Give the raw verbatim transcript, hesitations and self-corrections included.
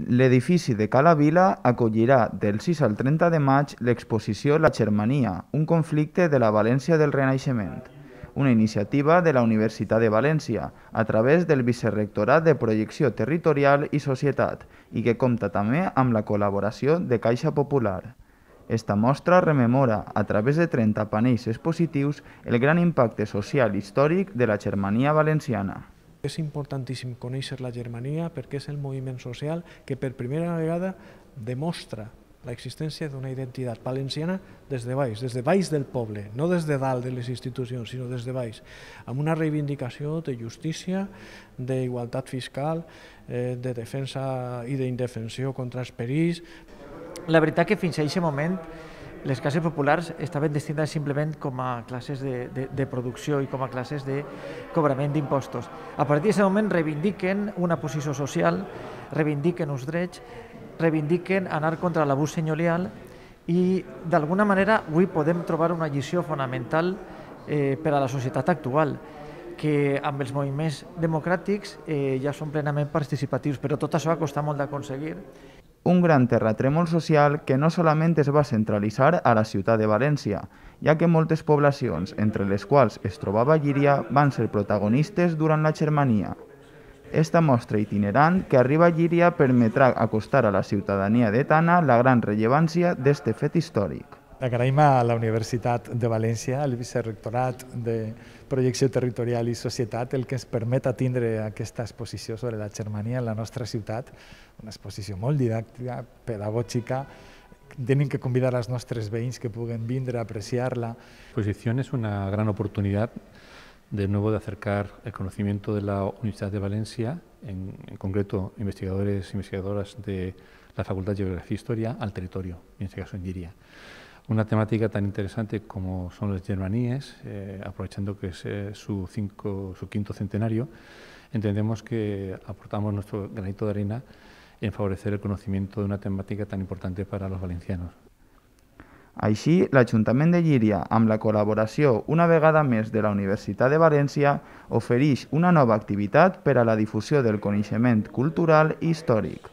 L'edifici de Cala Vila acollirà del sis al trenta de maig l'exposició La Germania, un conflicte de la València del Renaixement, una iniciativa de la Universitat de València a través del Vicerrectorat de Projecció Territorial i Societat i que compta també amb la col·laboració de Caixa Popular. Esta mostra rememora, a través de trenta panells expositius, el gran impacte social i històric de la Germania valenciana. És importantíssim conèixer la Germania perquè és el moviment social que per primera vegada demostra l'existència d'una identitat valenciana des de baix, des de baix del poble, no des de dalt de les institucions, sinó des de baix, amb una reivindicació de justícia, d'igualtat fiscal, de defensa i d'indefensió contra els perills. La veritat que fins a aquest moment les classes populars estaven destinades simplement com a classes de, de, de producció i com a classes de cobrament d'impostos. A partir d'aquest moment reivindiquen una posició social, reivindiquen uns drets, reivindiquen anar contra l'abús senyorial i d'alguna manera avui podem trobar una lliçó fonamental eh, per a la societat actual, que amb els moviments democràtics eh, ja són plenament participatius, però tot això ha costat molt d'aconseguir. Un gran terratrèmol social que no solament es va centralitzar a la ciutat de València, ja que moltes poblacions, entre les quals es trobava Llíria, van ser protagonistes durant la Germania. Esta mostra itinerant que arriba a Llíria permetrà acostar a la ciutadania de Tana la gran rellevància d'este fet històric. Agraïm a la Universitat de València, al Vicerrectorat de Projecció Territorial i Societat, el que ens permet tindre aquesta exposició sobre la Germania en la nostra ciutat, una exposició molt didàctica, pedagògica. Tenim que convidar als nostres veïns que puguen vindre a apreciar-la. La exposición es una gran oportunidad de nuevo de acercar el conocimiento de la Universidad de Valencia, en, en concreto investigadores e investigadoras de la Facultad de Geografía e Historia, al territorio, en este caso en Llíria. Una temática tan interesante como son las germaníes, eh, aprovechando que es eh, su, cinco, su quinto centenario, entendemos que aportamos nuestro granito de arena en favorecer el conocimiento de una temática tan importante para los valencianos. Així, l'Ajuntament de Llíria, amb la col·laboració una vegada més de la Universitat de València, ofereix una nova activitat per a la difusió del coneixement cultural i històric.